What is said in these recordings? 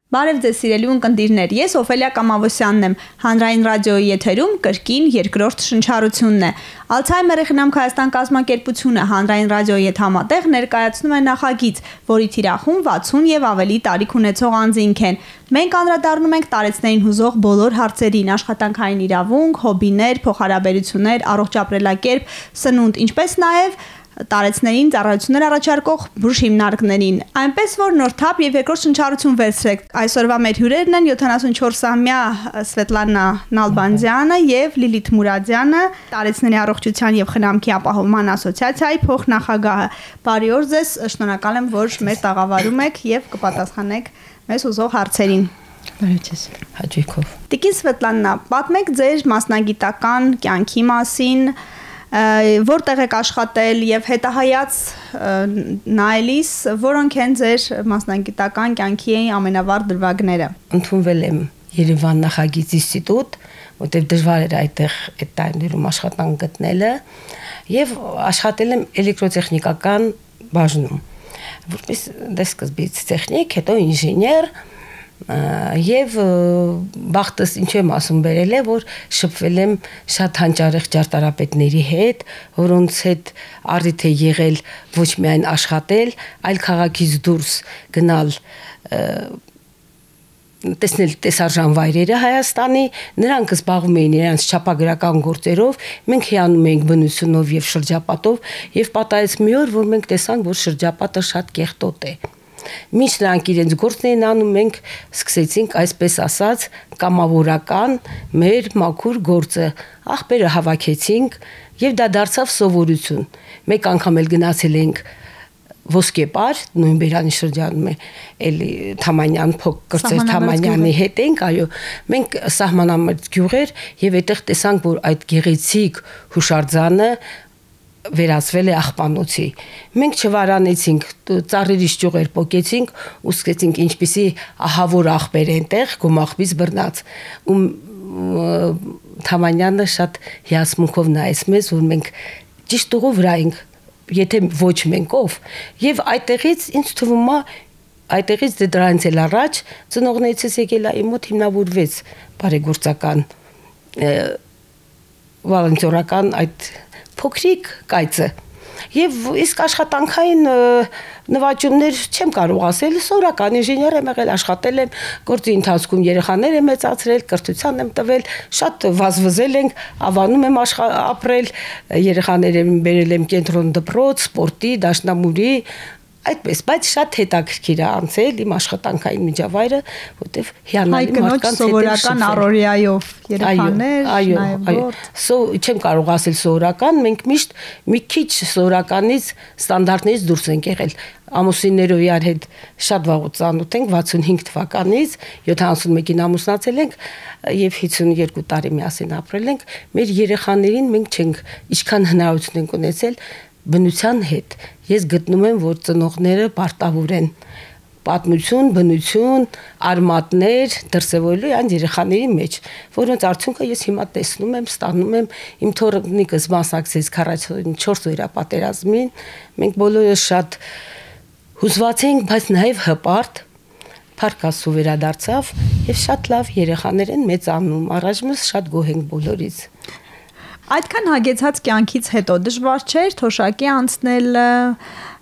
Բարև ձեզ սիրելի ունկնդիրներ, ես Օֆելիա Կամավոսյանն եմ, Հանրային ռադիոյի եթերում կրկին երկրորդ շնչառությունն է։ Ալցհայմերի խնամք Հայաստան կազմակերպությունը Հանրային ռադիոյի հետ համատեղ ներկայացնում է նախագիծ, որի թիրախում 60 եւ ավելի տարիք ունեցող անձինք են։ Մենք անդրադառնում ենք տարեցներին հուզող բոլոր հարցերին՝ աշխատանքային իրավունք, հոբիներ, փոխհարաբերություններ, առողջ ապրելակերպ, սնունդ, ինչպես նաեւ տարեցներին ծառայություններ առաջարկող բուժ հիմնարկներին։ Այնպես որ նոր թափ եւ երկրորդ շնչառություն վերցրեք։ Այսօրվա մեր հյուրերն են 74-ամյա Սվետլանա Նալբանդյանը եւ Լիլիթ Մուրադյանը, տարեցների առողջության եւ խնամքի ապահովման ասոցիացիայի փոխնախագահը։ Բարի օր ձեզ, շնորհակալ եմ, որ մեր տաղավարում եք եւ կպատասխանեք մեզ ուզող հարցերին։ Բարև ձեզ, հաջողով։ Տիկին Սվետլանա, պատմեք ձեր մասնագիտական կյանքի մասին, որտեղ եք աշխատել եւ հետահայաց նայելիս, որոնք են ձեր մասնագիտական կյանքի ամենավառ դրվագները։ Ընդունվել եմ Երևան նախագիծ ինստիտուտ, որտեղ դժվար էր այդտեղ այդ տարիներում աշխատանք գտնելը, եւ աշխատել եմ էլեկտրոտեխնիկական բաժնում, որպես դեսկզբից տեխնիկ, հետո ինժեներ, եւ բախտս ինչ եմ ասում բերել է, որ շփվել եմ շատ հանճարեղ ճարտարապետների հետ, որոնց հետ առիթ է եղել ոչ միայն աշխատել, այլ քաղաքից դուրս գնալ տեսնել տեսարժան վայրերը Հայաստանի, նրանք զբաղվում էին իրենց չափագրական գործերով, մենք հիանում էինք բնությունով եւ շրջապատով, եւ պատահեց մի օր, որ մենք տեսանք, որ շրջապատը շատ կեղտոտ է։ Մինչ նրանք իրենց գործն էին անում, մենք սկսեցինք, այսպես ասած, կամավորական մեր մաքուր գործը, աղբերը հավաքեցինք եւ դա դարձավ սովորություն։ Մեկ անգամ էլ գնացել ենք Ոսկեպար, նույն Բերանի շրջանում է, էլի Թամանյան կրծեր Թամանյանի հետ ենք, այո, մենք սահմանամերձ գյուղեր եւ այդտեղ տեսանք, որ այդ գեղեցիկ հուշարձանը վերածվել է աղբանոցի։ Մենք չվարանեցինք, ծառերից ճյուղեր պոկեցինք ու սկսեցինք ինչպիսի ահավոր աղբեր այնտեղ գումաղբից բռնած։ Ու Թամանյանը շատ հիասմունքով նայեց մեզ, որ մենք ճիշտ ուղու վրա ենք, եթե ոչ մենք ով։ Եվ այդտեղից ինձ թվում է, այդտեղից դրանից էլ առաջ ծնողներիցս եկել է իմ մոտ հիմնավորվեց բարեգործական վոլոնտերական այդ փոքրիկ կայծը եւ իսկ աշխատանքային նվաճումներ չեմ կարող ասել, սովորական ինժեներ եմ եղել, աշխատել եմ, գործի ընթացքում երեխաներ եմ մեծացրել, կրթության եմ տվել, շատ վազվզել ենք, Ավանում եմ ապրել, երեխաներ եմ բերել եմ կենտրոն դպրոց, սպորտի, դաշնամուրի, այդպես, բայց շատ հետաքրքիր է անցել իմ աշխատանքային միջավայրը, որտեղ հիանալի մարդկանց հետ սովորական առօրյայով երեխաներ, չեմ կարող ասել սովորական, մենք միշտ մի քիչ սովորականից ստանդարտներից դուրս ենք եղել։ Ամուսիններով իրար հետ շատ վաղուց ծանոթ ենք, 65 թվականից, 71-ին ամուսնացել ենք եւ 52 տարի միասին ապրել ենք։ Մեր երեխաներին մենք չենք ինչքան հնարավորություն ենք ունեցել բնության հետ։ Ես գտնում եմ, որ ծնողները պարտավոր են պատմություն, բնություն, արմատներ դրսևորելու այն երեխաների մեջ, որոնց արդյունքը ես հիմա տեսնում եմ, ստանում եմ, իմ թոռնիկս մասնակցեց 44 վերապատերազմին, մենք բոլորս շատ հուզված ենք, բայց նաև հպարտ, փառքասու վերադարձավ եւ շատ լավ երեխաներ են մեծանում, առայժմս շատ գոհ ենք բոլորից։ Այդքան հագեցած կյանքից հետո դժվար չէր թոշակի անցնել,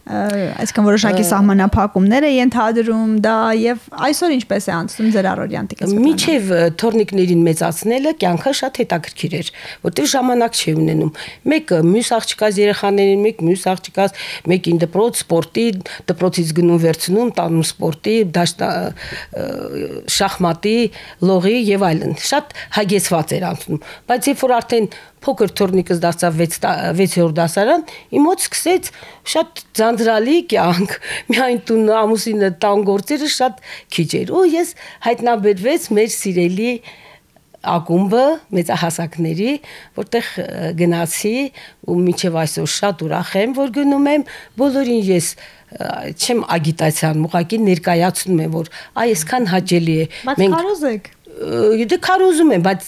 այսինքն որոշակի սահմանափակումներ է ենթադրում դա եւ այսօր ինչպես է անցնում ձեր առօրյան տիկին։ Միջև թորնիկներին մեծացնելը կյանքը շատ հետաքրքիր էր, որտեղ ժամանակ չի ունենում։ Մեկը մյուս աղջկաց երեխաներին, մեկ մյուս աղջկաց, մեկին դպրոց, սպորտի, դպրոցից գնում վերցնում, տանում սպորտի, շախմատի, լողի եւ այլն։ Շատ հագեցված էր անցնում, բայց երբ որ արդեն փոքր թորնիկս դարձավ 6-րդ դասարան, իմ մոտ սկսեց շատ ձանձրալի կյանք, միայն տուն ամուսինը տան գործերը շատ քիչ էր, ու ես հայտնաբերվեց մեր սիրելի ակումբը մեծահասակների, որտեղ գնացի ու մինչև այսօր շատ ուրախ եմ, որ գնում եմ, բոլորին ես չեմ ագիտացիան, ուղղակի ներկայացնում եմ, որ այսքան հաճելի է։ Բայց քարոզ եք։ Դե քարոզում եմ, բայց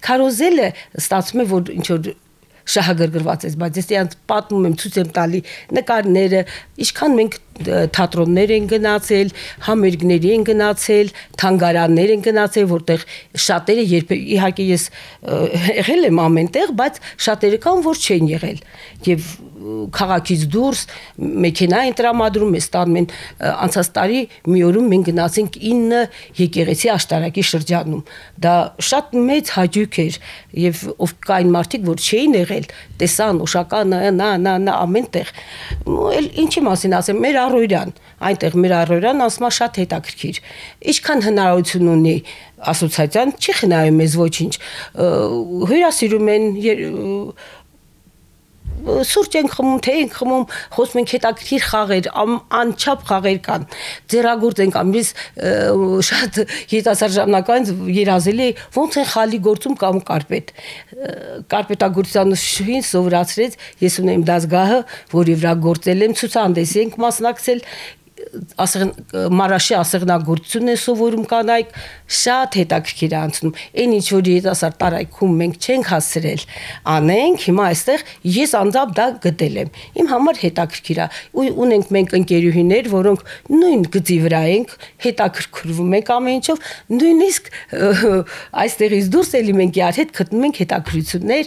քարոզելը ստացվում է, որ ինչ որ շահագրգռված ես, բայց ես իրանց պատմում եմ, ցույց եմ տալի նկարները, ինչքան մենք թատրոններ են գնացել, համերգների են գնացել, թանգարաններ են գնացել, որտեղ շատերը իհարկե ես եղել եմ ամենտեղ, բայց շատերը կան, որ չեն եղել եւ քաղաքից դուրս մեքենա են տրամադրում, ես տանում են անցած տարի մի օրում մենք գնացինք 9 եկեղեցի աշտարակի շրջանում, դա շատ մեծ հաճույք էր եւ ով կային մարդիկ, որ չէին եղել, տեսան Օշականը, նա ամենտեղ, էլ ինչի մասին ասեմ, մեր առօրյան, այնտեղ մեր առօրյան ասма շատ հետաքրքիր, ինչքան հնարավորություն ունի ասոցիացիան, չի խնայում մեզ ոչինչ, հյուրասիրում են սուրճ ենք խմում, թե ենք խմում, խոսում ենք հետաքրքիր խաղեր, անչափ խաղեր կան, ձեռագործ ենք ամենից շատ երիտասարդ ժամանակից երազելի ոնց են խալի գործում կամ կարպետագործության շուին սովորացրեց, ես ունեմ դասգահը, որի վրա գործել եմ, ցուցահանդեսի ենք մասնակցել, մարաշի ասեղնագործությունն է սովորում կանայք, շատ հետաքրքիր է անցնում, այն ինչ որ երիտասարդ տարայքում մենք չենք հասցրել անենք, հիմա այստեղ ես անձամբ դա գտել եմ, իմ համար հետաքրքիր է, ունենք մենք ընկերուհիներ, որոնք նույն գծի վրա ենք, հետաքրքրվում ենք ամեն ինչով, նույնիսկ այստեղից դուրս էլի մենք իրար հետ գտնում ենք հետաքրքրություններ,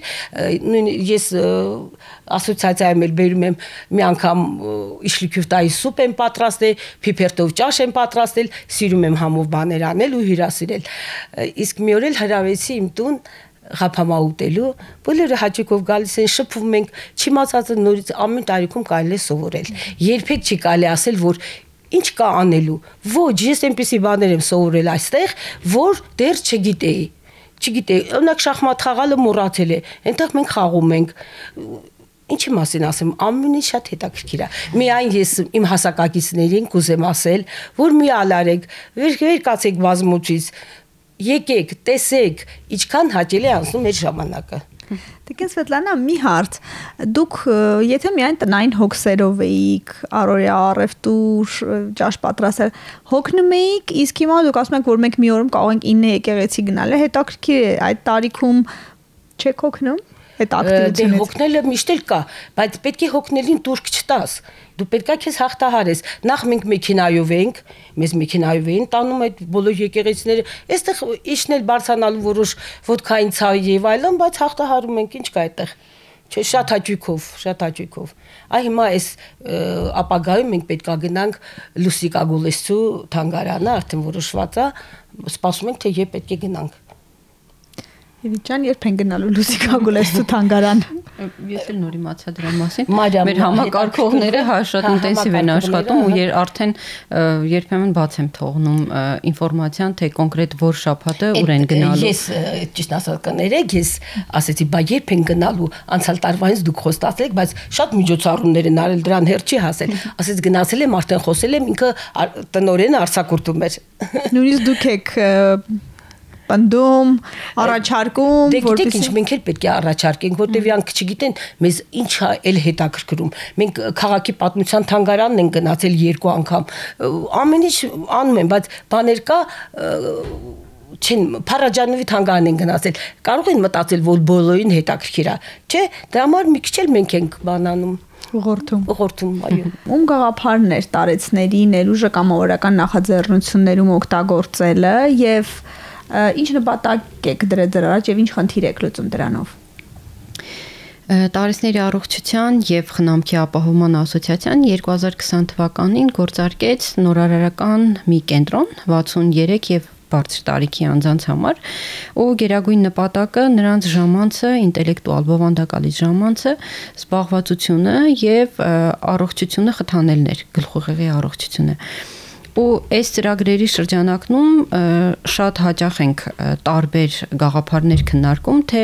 ես ասոցիացիայում էլ բերում եմ մի անգամ իշխլիկյուվտայի սուպ եմ պատրաստել, փիփերթով ճաշ եմ պատրաստել, սիրում եմ համով բաներ անել ու հյուրասիրել։ Իսկ մի օր էլ հրավեցի իմ տուն ղափամա ուտելու, բոլորը հաճույքով գալիս են, շփվում ենք, չիմացածը նորից ամեն տարիքում կարելի է սովորել։ Երբեք չի կարելի ասել, որ ինչ կա անելու։ Ոչ, ես այնպիսի բաներ եմ սովորել այստեղ, որ դեռ չգիտեի, օրինակ շախմատ խաղալը մոռացել է, այնտեղ մենք խաղում ենք։ Ինչի մասին ասեմ, ամեն ինչ շատ հետաքրքիր է։ Միայն ես իմ հասակակիցներին կուզեմ ասել, որ մի ալարեք, վեր կացեք բազմուծից, եկեք, տեսեք, ինչքան հաճելի է անցնում այդ ժամանակը։ Տիկին Սվետլանա, մի հարց, դուք եթե միայն տնային հոգսերով էիք, առօրյա առևտուր, ճաշ պատրաստել, հոգնում էիք, իսկ հիմա դուք ասում եք, որ մենք մի օրում կարող ենք 9 եկեղեցի գնալ, հետաքրքիր է, այդ տարիքում չեք հոգնում։ Դե հոգնելը միշտ էլ կա, բայց պետք է հոգնելին տուրք չտաս, դու պետք է քեզ հաղթահարես, նախ մենք մեքենայով ենք, մեզ մեքենայով էին տանում այդ բոլոր եկեղեցիները, այստեղ իջնել բարձրանալու որոշ ոդքային ցավի եւ այլն, բայց հաղթահարում ենք, ինչ կա այդտեղ, չէ, շատ հաճույքով, այ հիմա այս ապագայում մենք պետք է գնանք Լուսիկա Գուլեսցու թանգարանը, արդեն որոշված է, սպասում ենք, թե երբ պետք է գնանք։ Եվիճան, երբ են գնալու Լուսիկա Գուլեսցու թանգարան։ Ես էլ նոր իմացա դրա մասին։ Մեր համակարգողները շատ ինտենսիվ են աշխատում ու արդեն երբեմն բաց եմ թողնում ինֆորմացիան, թե կոնկրետ որ շաբաթը ուր են գնալու։ Ես ճիշտ ասած կներեք, ես ասեցի, բա երբ են գնալու, անցյալ տարվանից դուք խոստացել եք, բայց շատ միջոցառումներ են արել, դրան հեր չի հասել։ Ասեց գնացել եմ, արդեն խոսել եմ, ինքը տնօրենը արձակուրդում էր։ Նույնիսկ դուք եք պնդում, առաջարկում, դե գիտեք ինչ, մենք էլ պետք է առաջարկենք, որտեվ իրանք չգիտեն մեզ ինչ է էլ հետաքրքրում։ Մենք քաղաքի պատմության թանգարանն ենք գնացել 2 անգամ, ամեն ինչ անում են, բայց բաներ կա չեն Փարաջանովի թանգարան են գնացել, կարող են մտածել, որ բոլորին հետաքրքիր է, չէ, դրա համար մի քիչ էլ մենք ենք բանանում։ Ուղղորդում, այո։ Ում գաղափարներ տարեցների ներուժը կամավորական նախաձեռնություններում օգտագործելը եւ ինչ նպատակ եք դրել դրա առաջ եւ ինչ խնդիր եք լուծում դրանով։ Տարեցների առողջության եւ խնամքի ապահովման ասոցիացիան 2020 թվականին գործարկեց նորարարական մի կենտրոն 63 եւ բարձր տարիքի անձանց համար ու գերագույն նպատակը նրանց ժամանցը, ինտելեկտուալ բովանդակալից ժամանցը, զբաղվածությունը եւ առողջությունը խթանելն էր, գլխուղեղի առողջությունը։ Ու այս ծրագրերի շրջանակում շատ հաճախ ենք տարբեր գաղափարներ քննարկում, թե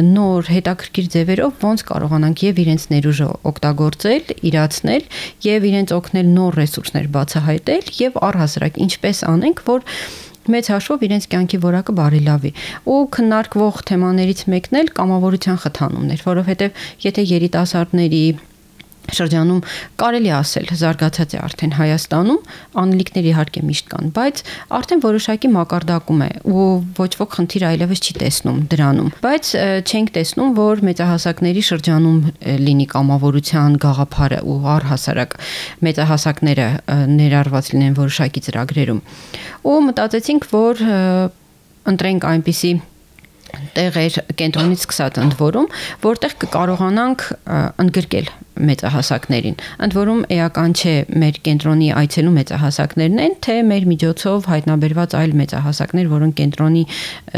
նոր հետաքրքիր ձևերով ոնց կարողանանք եւ իրենց ներուժը օգտագործել, իրացնել եւ իրենց օգնել նոր ռեսուրսներ բացահայտել եւ առհասարակ ինչպես անենք, որ մեծ հաշվով իրենց կյանքի որակը բարելավի։ Ու քննարկվող թեմաներից մեկն էլ կամավորության խթանումն էր, որովհետեւ եթե երիտասարդների շրջանում կարելի ասել զարգացած է արդեն Հայաստանում, անելիքներ իհարկե միշտ կան, բայց արդեն որոշակի մակարդակում է ու ոչ ոք խնդիր այլևս չի տեսնում դրանում, բայց չենք տեսնում, որ մեծահասակների շրջանում լինի կամավորության գաղափարը ու առհասարակ մեծահասակները ներառված լինեն որոշակի ծրագրերում։ Ու մտածեցինք, որ ընտրենք այնպիսի տեղեր կենտրոնից սկսած ընդ որում, որտեղ կկարողանանք ընդգրկել մեծահասակներին։ Ընդ որում էական չէ մեր կենտրոնի այցելու մեծահասակներն են, թե մեր միջոցով հայտնաբերված այլ մեծահասակներ, որոնք կենտրոնի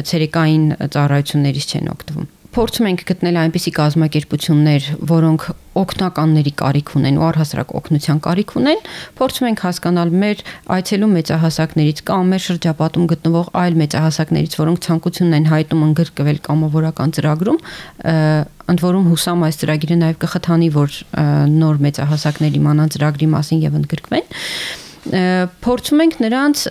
ցերեկային ծառայություններից չեն օգտվում։ Փորձում ենք գտնել այնպիսի կազմակերպություններ, որոնք օգնականների կարիք ունեն ու առհասարակ օգնության կարիք ունեն, փորձում ենք հասկանալ մեր այցելու մեծահասակներից կամ մեր շրջապատում գտնվող այլ մեծահասակներից, որոնք ցանկություն են հայտնում ընդգրկվել կամավորական ծրագրում, ընդ որում հուսամ այս ծրագիրը նաև կխթանի, որ նոր մեծահասակներ իմանան ծրագրի մասին եւ ընդգրկվեն։ Փորձում ենք նրանց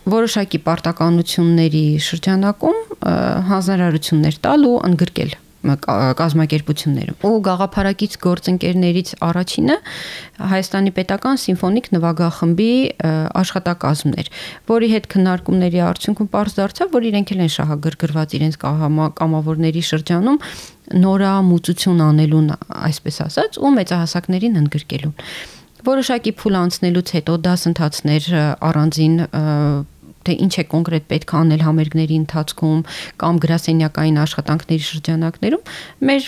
որոշակի պարտականությունների շրջանակում հանձնարարություններ տալ ու ընդգրկել կազմակերպություններում։ Ու գաղափարակից գործընկերներից առաջինը Հայաստանի պետական սիմֆոնիկ նվագախմբի աշխատակազմն էր, որի հետ քննարկումների արդյունքում պարզ դարձավ, որ իրենք էլ են շահագրգռված իրենց կամավորների շրջանում նորամուծություն անելուն, այսպես ասած, ու մեծահասակներին ընդգրկելուն։ Որոշակի փուլ անցնելուց հետո դասընթացներ առանձին թե ինչ է կոնկրետ պետք է անել համերգների ընթացքում կամ գրասենյակային աշխատանքների շրջանակներում մեր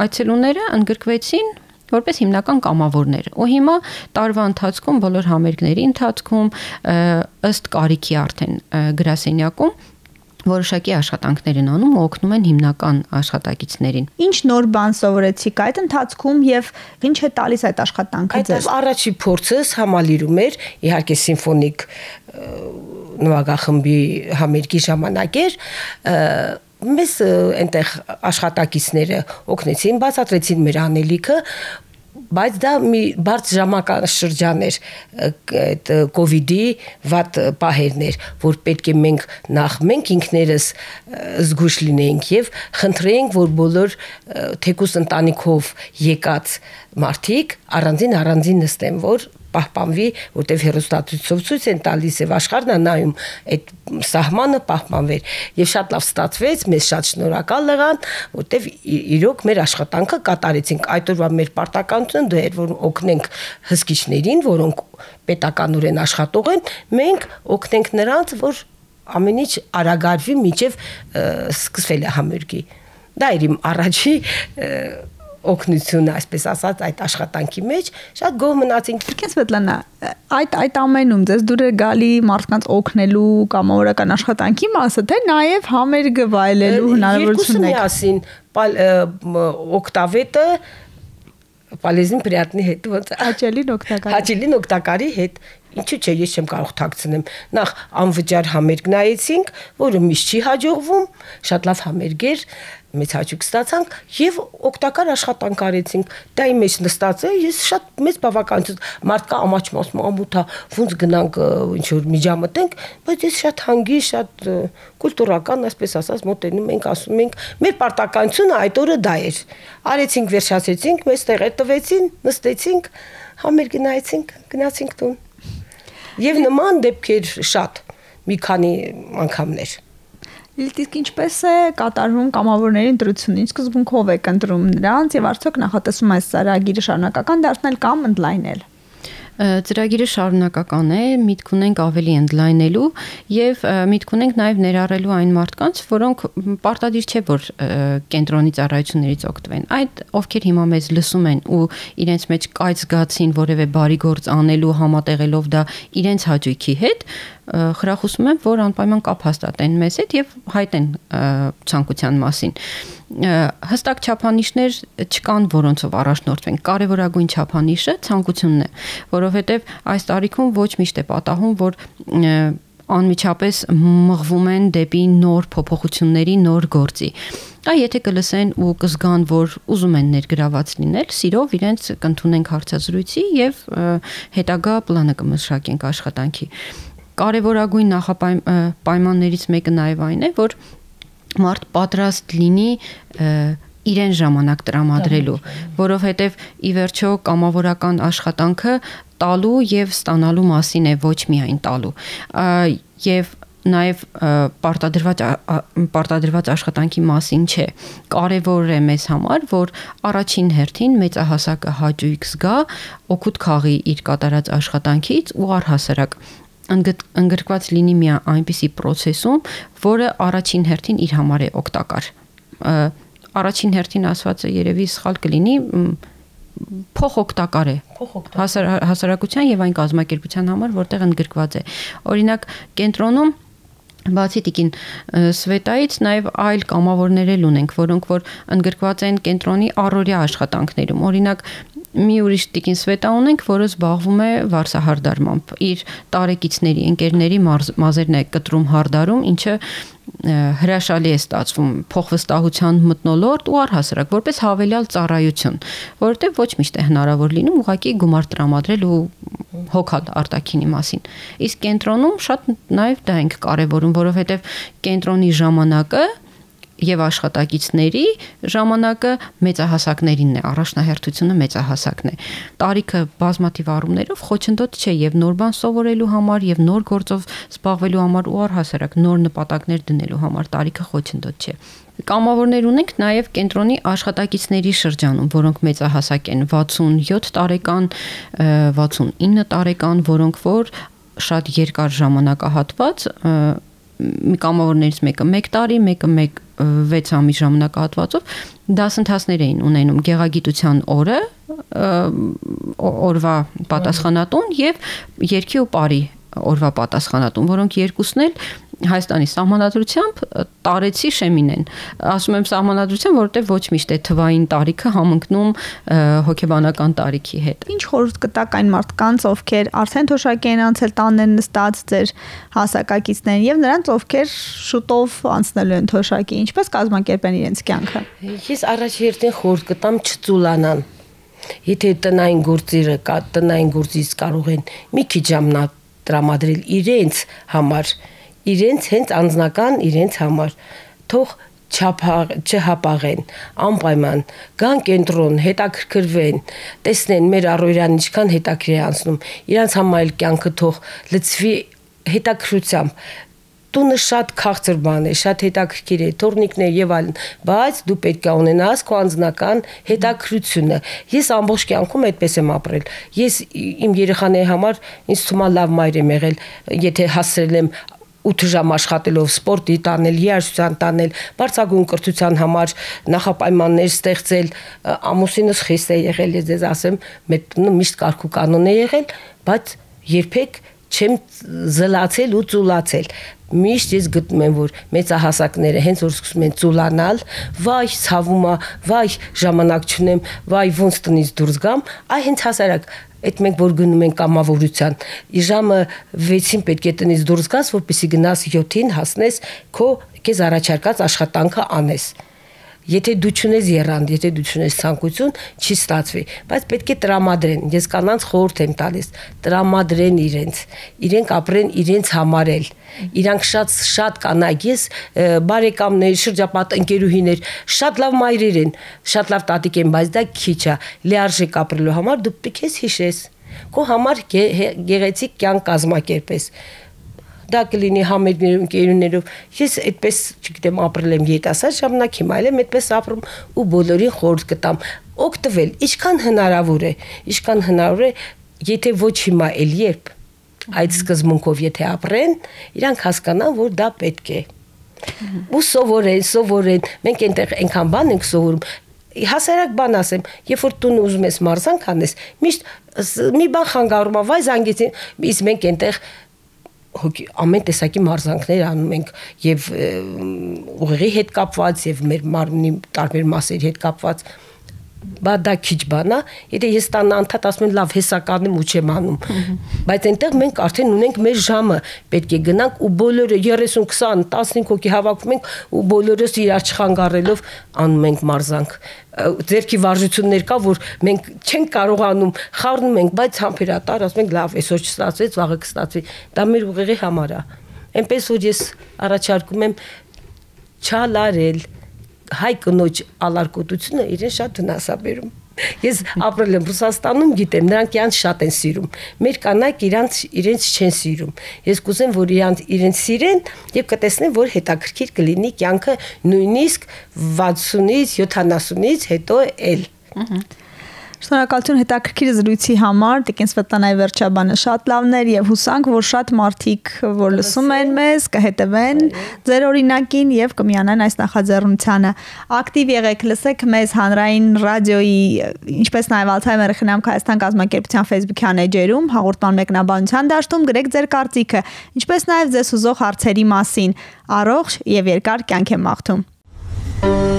այցելուները ընդգրկվեցին որպես հիմնական կամավորներ։ Ու հիմա տարվա ընթացքում բոլոր համերգների ընթացքում ըստ կարիքի արդեն գրասենյակում որոշակի աշխատանքներ են անում ու օգնում են հիմնական աշխատակիցներին։ Ինչ նոր բան սովորեցիք այդ ընթացքում եւ ինչ է տալիս այդ աշխատանքը ձեզ։ Այդ առաջի փորձս համալիրում էր իհարկե սիմֆոնիկ նվագախմբի համերգի ժամանակ էր, մեզ այնտեղ աշխատակիցները օգնեցին, բացատրեցին մեր անելիքը, բայց դա մի բարձ ժամանակաշրջան էր այդ կովիդի վատ պահերներ, որ պետք է մենք ինքներս զգույշ լինենք եւ խնդրենք, որ բոլոր թեկուս ընտանիքով եկած մարդիկ առանձին նստեն, որ պահպանվի, որտեղ հերոստատուսով ցույց են տալիս եւ աշխարհն է նայում այդ սահմանը պահպանվեր եւ շատ լավ ստացվեց, մեզ շատ շնորհակալ եղան, որտեղ իրոք մեր աշխատանքը կատարեցինք։ Այդ օրվա մեր պարտականությունը դա էր, որ օգնենք հսկիչներին, որոնք պետականորեն աշխատող են, մենք օգնենք նրանց, որ ամեն ինչ արագարվի մինչև սկսվելը համերգի։ Դա էր իմ առաջի օգնությունը, այսպես ասած, այդ աշխատանքի մեջ շատ գոհ մնացինք։ Իրքեն Սվետլանա, այդ ամենում ձեզ դուր է գալի մարդկանց օգնելու կամավորական աշխատանքի մասը, թե նաև համերգը վայելելու հնարավորություն եք։ Երկուսը միասին օկտավետը полезին приятный հետ, ոնց հաճելին օգտակարի հետ։ Ինչու՞ չէ, ես չեմ կարող թաքցնեմ։ Նախ անվճար համերգ նայեցինք, որը միշտ չի հաջողվում, շատ լավ համերգեր, մեծ հաճույք ստացանք եւ օգտակար աշխատանք արեցինք։ Դա իմ մեջ նստած է, ես շատ մեծ բավականություն մարդկա ամաչում ամութա, ոնց գնանք ինչ որ միջամտենք, բայց ես շատ հանգիստ, շատ կուլտուրական, այսպես ասած, մոտենում ենք, ասում ենք, մեր պարտականությունը այդ օրը դա էր։ Արեցինք, վերջացեցինք, մեզ տեղեր տվեցին, նստեցինք, համերգ նայեցինք, գնացինք տուն։ Եվ նման դեպքեր շատ, մի քանի անգամներ։ Իսկ ինչպես է կատարվում կամավորների ընտրությունը, ինչ սկզբունքով եք ընտրում նրանց եւ արդյոք նախատեսում այս ծրագիրը շարունակական դարձնել կամ ընդլայնել։ Ծրագիրը շարունակական է, միտք ունենք ավելի ընդլայնելու եւ միտք ունենք նաեւ ներառելու այն մարդկանց, որոնք պարտադիր չէ որ կենտրոնի ծառայություններից օգտվեն։ Այդ ովքեր հիմա մեզ լսում են ու իրենց մեջ կայծ զգացին որևէ բարի գործ անելու համատեղելով դա իրենց հաճույքի հետ, խրախուսում եմ, որ անպայման կապ հաստատեն մեզ հետ եւ հայտնեն ցանկության մասին։ Հստակ չափանիշներ չկան, որոնցով առաջնորդվենք։ Կարևորագույն չափանիշը ցանկությունն է, որովհետեւ այս տարիքում ոչ միշտ է պատահում, որ անմիջապես մղվում են դեպի նոր փոփոխությունների, նոր գործի։ Եթե կլսեն ու կզգան, որ ուզում են ներգրաված լինել, սիրով իրենց կընդունենք հարցազրույցի եւ հետագա պլանը կմշակենք աշխատանքի։ Կարևորագույն նախապայմաններից մեկը նաև այն է, որ մարդ պատրաստ լինի իրեն ժամանակ տրամադրելու, որովհետև ի վերջո կամավորական աշխատանքը տալու եւ ստանալու մասին է, ոչ միայն տալու։ Եվ նաև պարտադրված աշխատանքի մասին չէ։ Կարևոր է մեզ համար, որ առաջին հերթին մեծահասակը հաճույք զգա, օգուտ քաղի իր կատարած աշխատանքից ու առհասարակ ընդգրկված լինի մի այնպիսի process-ում, որը առաջին հերթին իր համար է օգտակար։ Առաջին հերթին ասվածը երևի սխալ կլինի, փոխօգտակար է հասարակության եւ այն կազմակերպության համար, որտեղ ընդգրկված է։ Օրինակ, կենտրոնում բացի տիկին Սվետայից նաև այլ կամավորներ էլ ունենք, որոնք որ ընդգրկված են կենտրոնի առօրյա աշխատանքներում։ Օրինակ, մի ուրիշ տիկին Սվետա ունենք, որը զբաղվում է վարսահարդարմամբ։ Իր տարեկիցների, ընկերների մազերն է կտրում հարդարում, ինչը հրաշալի է ստացվում փոխվստահության մթնոլորտ ու առհասարակ որպես հավելյալ ծառայություն, որովհետև ոչ միշտ է հնարավոր լինում ուղղակի գումար տրամադրել ու հոգալ արտաքինի մասին։ Իսկ կենտրոնում շատ նաև դա ենք կարևորում, որովհետև կենտրոնի ժամանակը եւ աշխատակիցների ժամանակը մեծահասակներինն է, առաջնահերթությունը մեծահասակն է։ Տարիքը բազմաթիվ առումներով խոչընդոտ չէ եւ նոր բան սովորելու համար եւ նոր գործով զբաղվելու համար ու առհասարակ նոր նպատակներ դնելու համար տարիքը խոչընդոտ չէ։ Կամավորներ ունենք նաև կենտրոնի աշխատակիցների շրջանում, որոնք մեծահասակ են 67 տարեկան, 69 տարեկան, որոնք որ շատ երկար ժամանակահատված կամավորներից մեկը 1 տարի, մեկը 6 ամիս ժամանակահատվածով դասընթացներ էին ունենում գեղագիտության օրը, օրվա պատասխանատուն եւ երգի ու պարի օրվա պատասխանատուն, որոնք երկուսն էլ Հայաստանի սահմանադրությամբ տարեցի շեմին են։ Ասում եմ սահմանադրությամբ, որովհետև ոչ միշտ է թվային տարիքը համընկնում հոգեբանական տարիքի հետ։ Ինչ խորհուրդ կտաք այն մարդկանց, ովքեր արդեն թոշակի են անցել տանեն նստած ձեր հասակակիցներին եւ նրանց, ովքեր շուտով անցնելու են թոշակի, ինչպես կազմակերպեն իրենց կյանքը։ Ես առաջերտին խորհուրդ կտամ չծուլանան։ Եթե տնային գործերը կա, տնային գործից կարող են մի քիչ ժամանակ տրամադրել իրենց համար, իրենց հենց անձնական իրենց համար, թող չհապաղեն, անպայման գան կենտրոն, հետաքրքրվեն, տեսնեն մեր առօրյան ինչքան հետաքրքիր է անցնում, իրանց համար կյանքը թող լցվի հետաքրքրությամբ։ Տունը շատ քաղցր բան է, շատ հետաքրքիր է, թորնիկներ եւ այլն, բայց դու պետք է ունենաս քո անձնական հետաքրքրությունը։ Ես ամբողջ կյանքում այդպես եմ ապրել։ Ես իմ երեխաների համար ինձ թվում է լավ մայր եմ եղել, եթե հասցրել եմ 8 ժամ աշխատելով սպորտի տանել, երաժշտության տանել, բարձրագույն կրթության համար նախապայմաններ ստեղծել, ամուսինս խիստ է եղել, ես ձեզ ասեմ, մեր տունը միշտ կարգ ու կանոն է եղել, բայց երբեք չեմ զլացել ու ծուլացել։ Միշտ ես գտնում եմ, որ մեծահասակները հենց որ սկսում են ծուլանալ, վայ ցավում է, վայ ժամանակ չունեմ, վայ ոնց տնից դուրս գամ, այ հենց հասարակ այդ մենք որ գնում ենք կամավորության, ժամը 6-ին պետք է տնից դուրս գաս, որպեսզի գնաս 7-ին հասնես քո քեզ առաջարկած աշխատանքը անես։ Եթե դու չունես եռանդ, եթե դու չունես ցանկություն, չի ստացվի, բայց պետք է տրամադրեն։ Ես կանանց խորհուրդ եմ տալիս, տրամադրեն իրենք ապրեն իրենց համար էլ։ Իրանք շատ կանայք, ես բարեկամներ, շրջապատ ընկերուհիներ, շատ լավ մայրեր են, շատ լավ տատիկ են, բայց դա քիչ է։ Լիարժեք ապրելու համար դու պետք է հիշես, քո համար գեղեցիկ կյանք կազմակերպես։ Դա կլինի համերգներով, ընկերուներով։ Ես այդպես, չգիտեմ, ապրել եմ երիտասարդ ժամանակ, հիմա էլ եմ այդպես ապրում ու բոլորին խորհուրդ կտամ օգտվել, ինչքան հնարավոր է, եթե ոչ հիմա, էլ երբ այդ սկզբունքով եթե ապրեն, իրանք հասկանան, որ դա պետք է։ Ու սովորեն, մենք այնտեղ այնքան բան ենք սովորում։ Հասարակ բան ասեմ, երբ որ տուն ուզում ես մարզանք անես, միշտ մի բան խանգարում է, վայ զանգեցին, իսկ մենք այնտեղ ամեն տեսակի մարզանքներ անում ենք եւ ուղեղի հետ կապված եւ մեր մարմնի տարբեր մասերի հետ կապված, բայց դա քիչ բան է, եթե ես տանը անդադ ասում եմ լավ հեսա կանեմ ու չեմ անում, բայց այնտեղ մենք արդեն ունենք մեր ժամը, պետք է գնանք ու բոլորը 30, 20, 15 հոգի հավաքվում ենք ու բոլորս իրար չխանգարելով անում ենք մարզանք։ Ձերքի վարժություններ կա, որ մենք չենք կարողանում, խառնում ենք, բայց համբերատար ասում ենք լավ, այսօր չստացվեց, վաղը կստացվի, դա մեր ուղեղի համար է։ Այնպես որ ես առաջարկում եմ չալարել, հայ կնոջ ալարկոտությունը իրեն շատ վնասաբերում։ Ես ապրել եմ Ռուսաստանում, գիտեմ, նրանք իրանց շատ են սիրում։ Մեր կանայք իրենց չեն սիրում։ Ես կուզեմ, որ իրենց սիրեն եւ կտեսնեն, որ հետաքրքիր կլինի կյանքը նույնիսկ 60-ից 70-ից հետո էլ։ Շնորհակալություն հետաքրքիր զրույցի համար, Տիկին Սվետլանայի Վերջաբանը, շատ լավն էր եւ հուսանք, որ շատ մարդիկ, որ լսում են մեզ, կհետևեն ձեր օրինակին եւ կմիանան այս նախաձեռնությանը։ Ակտիվ եղեք, լսեք մեզ հանրային ռադիոյի, ինչպես նաեւ Alzheimer-ը խնամք Հայաստան կազմակերպության Facebook-յան էջերում, հաղորդման մեկնաբանության դաշտում գրեք ձեր կարծիքը, ինչպես նաեւ ձեզ հուզող հարցերի մասին։ Առողջ եւ երկար կյանք եմ մաղթում։